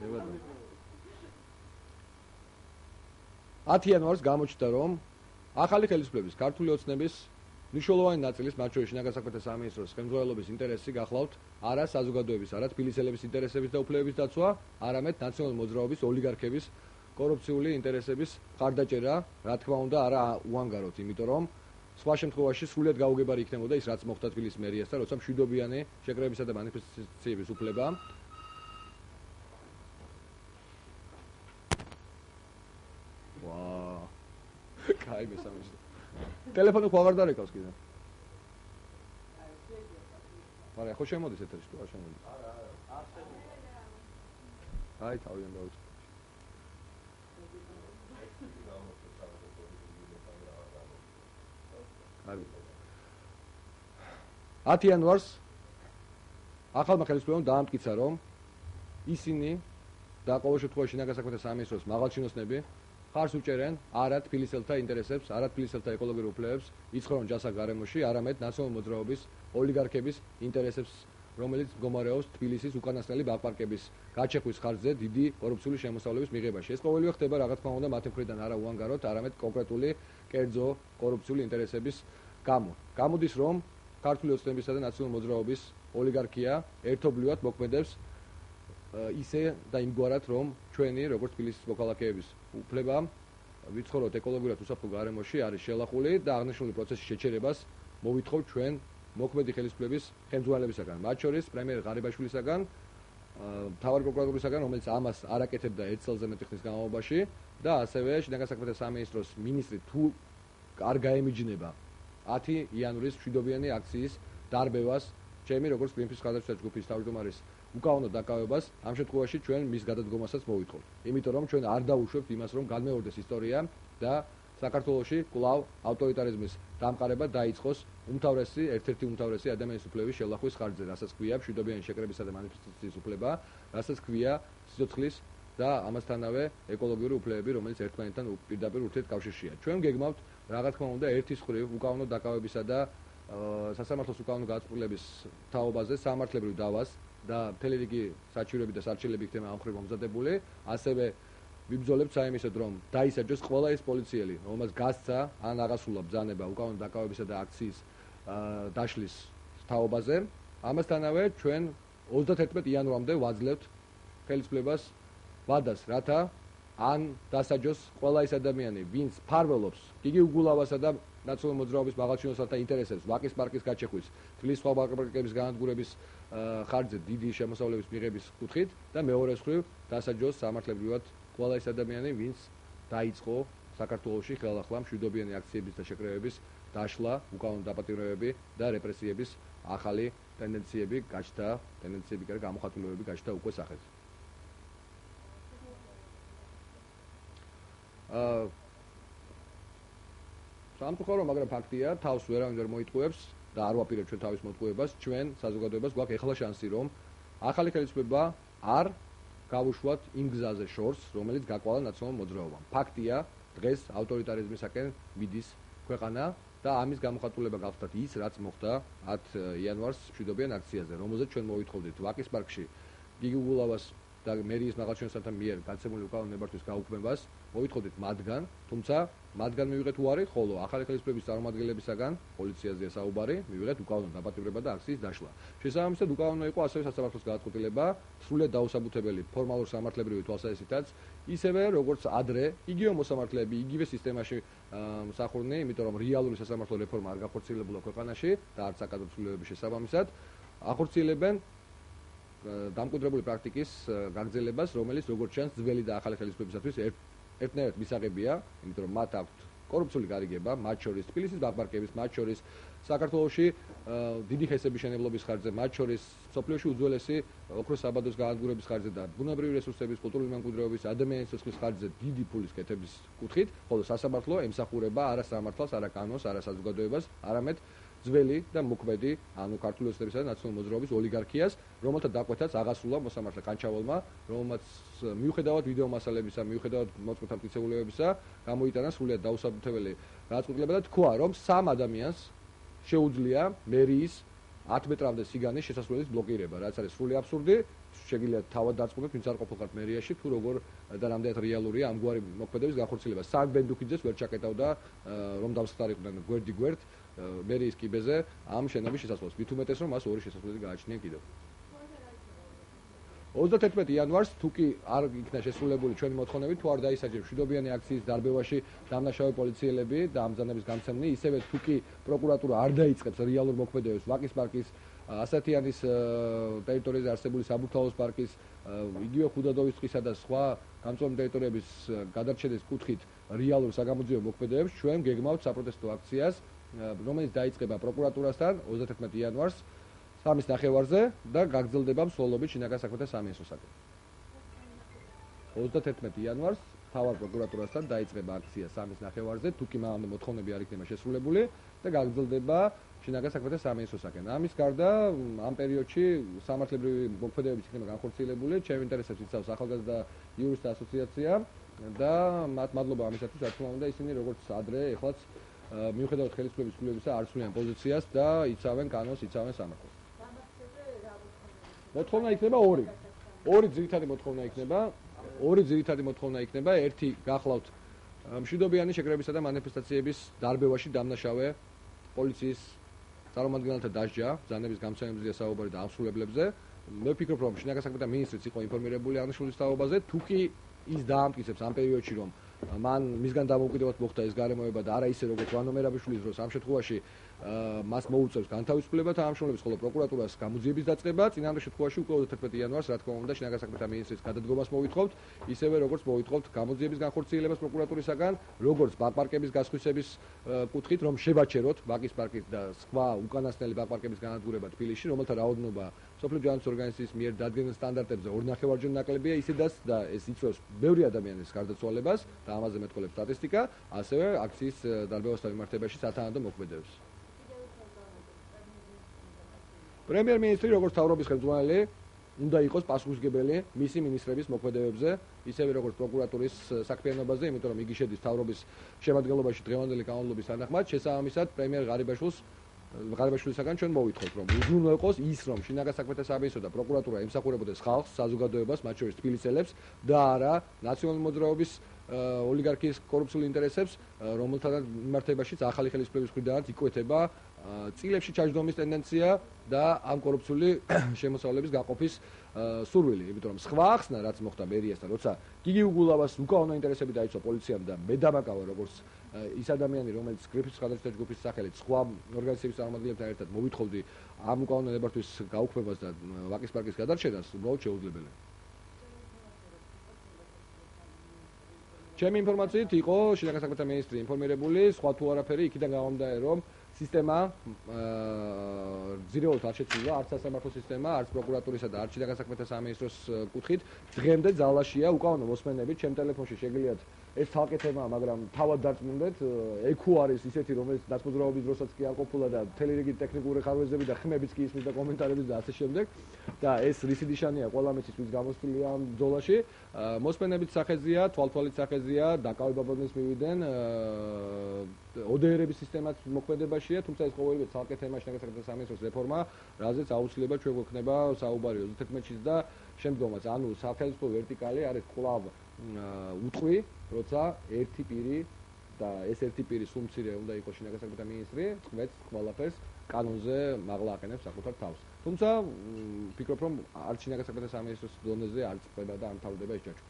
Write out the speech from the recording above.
შევადო. 10 იანვარს გამოჩნდა, რომ ახალი ხელისუფლების ქართული ოცნების მნიშვნელოვანი ნაწილის, მათ შორის შინაგან საქმეთა სამინისტროს ხელმძღვანელობის ინტერესი გახლავთ არა საზოგადოების, არა თბილისელების ინტერესების და უფლებების დაცვა, არამედ ნაციონალური მოძრაობის ოლიგარქების კორუფციული ინტერესების მხარდაჭერა, რა თქმა უნდა, არა უანგაროთ, იმიტომ რომ სხვა შემთხვევაში სრულად გაუგებარი იქნებოდა ის, რაც მოხდა თბილისის მერიასთან, როცა მშვიდობიანი შეკრებისა და მანიფესტაციების უფლება კაი მესამეში. ტელეფონი ხო აღარ დარეკავს კიდე. არა, ხო შემოდის ეთერში თუ არ შემოდის? არა, არა. აი, თავიდან დავიწყე. კარგი. 10 იანვარს ახალმა ხელისუფლებამ დაამტკიცა, რომ ისინი და ყოველ შემთხვევაში შინაგან საქმეთა სამინისტროს მაღალჩინოსნები ხარს უჭერენ არა თბილისელთა ინტერესებს, არა თბილისელთა ეკოლოგიურ უფლებებს, იცხოვრონ ჯასახ გარემოში, არამედ ნაციონალური მოძრაობის ოლიგარქების ინტერესებს, რომელიც მდგომარეობს თბილისის უკანასკნელი ბაღ-პარკების გაჩეხვის ხარჯზე დიდი კორუფციული შემოსავლების მიღებაში. ეს ყოველივე ხდება რა თქმა უნდა მათი მხრიდან არა უანგაროდ, არამედ კონკრეტული კერძო კორუფციული ინტერესების გამო. გამოდის, რომ ქართული ოცნებისა და ნაციონალური მოძრაობის ოლიგარქია ერთობლივად მოქმედებს ისე და იმგვარად, რომ ჩვენი როგორც თბილისის მოქალაქეების უფლება ვიცხოვროთ ეკოლოგიურად უსაფრთხო გარემოში არის შელახული და აღნიშნული პროცესის შეჩერებას მოვითხოვ ჩვენ მოქმედი ხელისუფლების ხელმძღვანელებისაგან, მათ შორის პრემიერ ღარიბაშვილისაგან, მთავარი პროკურორისაგან, რომელიც ამას არ აკეთებდა 1 წელზე მეტი ხნის განმავლობაში და ასევე შინაგან საქმეთა სამინისტროს მინისტრი თუ არ გაემიჯნება 10 იანვრის მშვიდობიანი აქციის დარბევას, ჩემი როგორც გრინპის ხალხთა ჯგუფის თავმჯდომარის უკანონო დაკავებას, ამ შემთხვევაში ჩვენ მის გადადგომასაც მოვითხოვთ. იმიტომ რომ ჩვენ არ დაუშვებთ იმას, რომ განმეორდეს ისტორია და საქართველოში კვლავ ავტორიტარიზმის დამყარება დაიწყოს ერთ-ერთი უმთავრესი ადამიანის უფლების შელახვის ხარჯზე, რასაც ქვია მშვიდობიანი შეკრებისა და მანიფესტაციის უფლება, რასაც ქვია სიცოცხლის და ამასთანავე ეკოლოგიური უფლებები, რომელიც ერთმანეთთან პირდაპირ ურთიერთკავშირშია. ჩვენ გეგმავთ რა თქმა უნდა ერთის მხრივ უკანონო დაკავებისა და სასამართლოს უკანონო გადაწყვეტილების თაობაზე სამართლებრივ დავას და მთელი რიგი საჩივრები და სარჩელები იქნება ამ მხრივ მომზადებული, ასევე ვიბრძოლებთ საიმისოდ, რომ დაისაჯოს ყველა ეს პოლიციელი, რომელმაც გასცა ან აღასრულა ბრძანება უკანონო დაკავებისა და აქციის დაშლის თაობაზე. ამასთანავე ჩვენ 31 იანვრამდე ვაძლევთ ხელისუფლებას ვადას, რათა ან დასაჯოს ყველა ის ადამიანი, ვინც ფარველობს გიგი უგულავასა და ნაციონალური მოძრაობის მაღალჩინოსნთა ინტერესებს, ვაკის პარკის გაჩეხვის, თბილისის სხვა ბაღ-პარკების განადგურების ხარჯზე დიდი შემოსავლების მიღების კუთხით და მეორე მხრივ დასაჯოს სამართლებრივად ყველა ის ადამიანი, ვინც დაიწყო საქართველოში ხელახლა მშვიდობიანი აქციების და შეკრებების დაშლა, უკანონო დაპატიმრებები და რეპრესიების ახალი ტენდენციები გაჩნდა, გამოხატულებები გაჩნდა უკვე სახეზე. სამწუხარო, მაგრამ ფაქტია, თავს ვერავინ ვერ მოიტყუებს და არ ვაპირებ ჩვენ თავის მოტყუებას, ჩვენ საზოგადოებას გვაქვს ეხლა შანსი, რომ ახალი ხელისუფლება არ გავუშვათ იმ გზაზე შორს, რომელიც გაკვალა ნაციონალურ მოძრაობამ. ფაქტია, დღეს ავტორიტარიზმისაკენ მიდის ქვეყანა და ამის გამოხატულება გახდათ ის, რაც მოხდა 10 იანვარს მშვიდობიან აქციაზე, რომელზეც ჩვენ მოვითხოვდით ვაკის პარკში გიგი უგულავას და მერიის მაღალჩინოსნთა მიერ გაცემული უკანონო ნებართვის გაუქმებას, მოვითხოვდით მათგან, თუმცა მათგან მივიღეთ უარი, ხოლო ახალი ხელისუფლების წარმომადგენლებისაგან, პოლიციაზეა საუბარი, მივიღეთ უკანონო დაპატიმრება და აქციის დაშლა. შესაბამისად, უკანონო იყო ასევე სასამართლოს გადაწყვეტილება, სრულიად დაუსაბუთებელი ფორმალურ სამართლებრივი თვალსაზრისითაც, ისევე როგორც ადრე, იგივე მოსამართლეები, იგივე სისტემაში მსახურნი, იმიტომ რომ რეალური სასამართლო რეფორმა არ გახორციელებულა ქვეყანაში და არც საკადროცვლილებების შესაბამისად, ახორციელებენ დამკვიდრებული პრაქტიკის გაგრძელებას, რომელიც როგორც ჩანს ძველი და ახალი ხელისუფლებისათვის ერთნაირად მისაღებია, იმიტომ რომ მათ აქვთ კორუფციული გარიგება, მათ შორის თბილისის ბაღ-პარკების, მათ შორის საქართველოში დიდი ხესების შენებლობის ხარჯზე, მათ შორის სოფლიოში უძველესი ოქროს საბადოს განადგურების ხარჯზე და ბუნებრივი რესურსების, კულტურული მემკვიდრეობის, ადამიანის სიცოცხლის ხარჯზე დიდი ფულის კეთების კუთხით, ხოლო სასამართლო ემსახურება არა სამართალს, არა კანონს, არა საზოგადოებას, არამედ ძველი და მოქმედი, ანუ ქართული ოცნებისა და ნაციონალური მოძრაობის ოლიგარქიას, რომელთა დაკვეთაც აღასრულა მოსამართლე კანჩავალმა, რომელმაც მიუხედავად ვიდეო მასალებისა, მიუხედავად მოწმეთა მტკიცებულებებისა, გამოიტანა სრულიად დაუსაბუთებელი გადაწყვეტილება და თქვა, რომ 3 ადამიანს შეუძლია მერიის 10 მეტრამდე სიგანის შესასვლელის ბლოკირება, რაც არის სრული აბსურდი. შეგიძლიათ თავად დარწმუნოთ, ვინც არ ყოფილიყავთ მერიაში, თუ როგორ და რამდენად რეალურია ამგვარი მოქმედების განხორციელება. სამ ბენდუქიძეს ვერ ჩაკეტავდა რომ დამსხდარიყვნენ გვერდ მერიის კიბეზე ამ შენობის შესასვლელს. მით უმეტეს რომ მას ორი შესასვლელი გააჩნია კიდევ. 31 იანვარს თუ კი არ იქნა შესრულებული ჩვენი მოთხოვნები, თუ არ დაისაჯეს მშვიდობიანი აქციის დარბევაში დამნაშავე პოლიციელები და ამბრძანების გამცემნი, ისევე თუ კი პროკურატურა არ დაიწყებს რეალურ მოქმედებებს ვაკის პარკის, ასათიანის ტერიტორიაზე არსებული საბურთალოს პარკის, იგივე ხუდადოვის ტყისა და სხვა გამწვავი ტერიტორიების გადარჩენის კუთხით რეალურ საგამოძიებო მოქმედებებს, ჩვენ გეგმავთ საპროტესტო აქციას, რომელიც დაიწყება პროკურატურასთან 31 იანვარს 3:30-ზე და გაგრძელდება მსვლელობით შინაგან საქმეთა სამინისტროსაკენ. 31 იანვარს თავარ პროკურატურასთან დაიწყება აქცია 3:30-ზე, თუ კი მანამდე მოთხოვნები არ იქნება შესრულებული და გაგრძელდება შინაგან საქმეთა სამინისტროსაკენ. ამის გარდა ამ პერიოდში სამართლებრივი მოქმედებებიც იქნება განხორციელებული, ჩემ ინტერესებს იცავს ახალგაზრდა იურისტთა ასოციაცია და მათ მადლობა ამისათვის, რა თქმა უნდა, ისინი როგორც ადრე ეხლაც მიუხედავად ხელისუფლების ცვლილებისა არ ცვლიან პოზიციას და იცავენ კანონს, იცავენ სამართალს. მოთხოვნა იქნება ორი ძირითადი მოთხოვნა იქნება, ერთი გახლავთ მშვიდობიანი შეკრებისა და მანიფესტაციების დარბევაში დამნაშავე პოლიციის წარმომადგენელთა დასჯა, ბრძანების გამცემებზეა საუბარი და ამსრულებლებზე. მე ვფიქრობ, რომ შინაგან საქმეთა მინისტრიც იყო ინფორმირებული აღნიშნული თაობაზე, თუ კი ის დაამტკიცებს ამ პერიოდში, რომ მან მისგან დამოუკიდებლად მოხდა ეს გარემოება და არა ისე როგორც ვანო მერაბიშვილის დროს, ამ შემთხვევაში მას მოუწევს განთავისუფლება და ამშრომლებს, ხოლო პროკურატურას გამოძიების დაწყება. წინამდე შემთხვევაში უკვე 31 იანვარს, რა თქმა უნდა, შინაგან საქმეთა მინისტრის გადადგომას მოვითხოვთ, ისევე როგორც მოვითხოვთ გამოძიების განხორციელებას პროკურატურისაგან, როგორც ბაკ-პარკების გასხვისების კუთხით, რომ შევაჩეროთ ვაკის პარკის და სხვა უკანასკნელი ბაკ-პარკების განადგურება თბილისში, რომელთა რაოდენობა სოფლიო ჯანდაცვის ორგანიზაციის მიერ დადგენილ სტანდარტებზე 2.5-ჯერ ნაკლებია, ისედაც და ეს იწვევს ბევრი ადამიანის გარდაცვალებას და ამაზე მეტყველებს სტატისტიკა, ასევე აქციის დარბევასთან მიმართებაში სათანადო მოქმედებებს. პრემიერ-მინისტრი როგორც თავრობის ხელმძღვანელი უნდა იყოს პასუხისმგებელი მისი მინისტრების მოქმედებებზე, ისევე როგორც პროკურატურის საქმიანობაზე, იმიტომ რომ იგი შედის თავრობის შემადგენლობაში დღევანდელი კანონმდებლობის თანახმად, შესაბამისად პრემიერ ღარიბაშვილისაგან ჩვენ მოვითხოვთ, რომ უზრუნველყოს ის, რომ შინაგან საქმეთა სამინისტრო და პროკურატურა ემსახურებოდეს ხალხს, საზოგადოებას, მათ შორის თბილისელებს და არა ნაციონალური მოძრაობის ოლიგარქიის კორუფციულ ინტერესებს, რომელთანაც მიმართებაშიც ახალი ხელისუფლების მხრიდან იკვეთება წილებში ჩაჯდომის ტენდენცია და ამ კორუფციული შემოსავლების გაყოფის სურვილი, იმიტომ რომ სხვა ახსნა რაც მოხდა მერიასთან, როცა გიგი უგულავას უკანონო ინტერესები დაიცვა პოლიციამ და მე დამაკავა როგორც ის ადამიანი, რომელიც გრიფის ხალხთა ჯგუფის სახელით სხვა ორგანიზაციების წარმომადგენლებთან ერთად მოვითხოვდი ამ უკანონო ნებართვის გაუქმებას და ვაკის პარკის გადარჩენას, უბრალოდ შეუძლებელია. ჩემი ინფორმაციით იყო შინაგან საქმეთა მინისტრი ინფორმირებული, სხვა თუ არაფერი იქიდან გამომდა, რომ სისტემა ძირეულად არ შეცვლილა, არც სასამართლო სისტემა, არც პროკურატურისა და არც შინაგან საქმეთა სამინისტროს კუთხით. დღემდე ძალაშია უკანონო მოსმენებით, ჩემ ტელეფონში შეგიძლიათ ეს თალკე თემაა, მაგრამ თავად დარწმუნდეთ, ეკუ არის ისეთი, რომელიც დაწმუნდების დროსაც კი არ ყოფილა და მთელი რიგი ტექნიკური ხარვეზები და ხმებიც კი ისმის და კომენტარებიც და ასე შემდეგ. და ეს რისი ნიშანია ყველა მეცის ვის გამოსვლია ამ ბრძოლაში. მოსმენებით სახეზია, თვალთვალით სახეზია, დაკავებაბონის მივიდნენ ODR-ების სისტემაც მოქმედებაშია, თუმცა ეს ყოველივე თალკე თემა შინაგან საქმეთა სამინისტროს რეფორმა, რაზეც აუცილებლად ჩვენ გვექნება საუბარი 31-ის და შემდგომაც. ანუ სახელმწიფო ვერტიკალი არის კვლავ უტყვი, როცა ერთი პირი და ეს ერთი პირი სულ მცირე უნდა იყოს შინაგან საქმეთა მინისტრი, წყვეტს ყველაფერს კანონზე მაღლა აყენებს საკუთარ თავს. თუმცა ვფიქრობ, რომ არც შინაგან საქმეთა სამინისტროს დონეზე არ წყვება და არ მთავრდება ეს ჯაჭვი.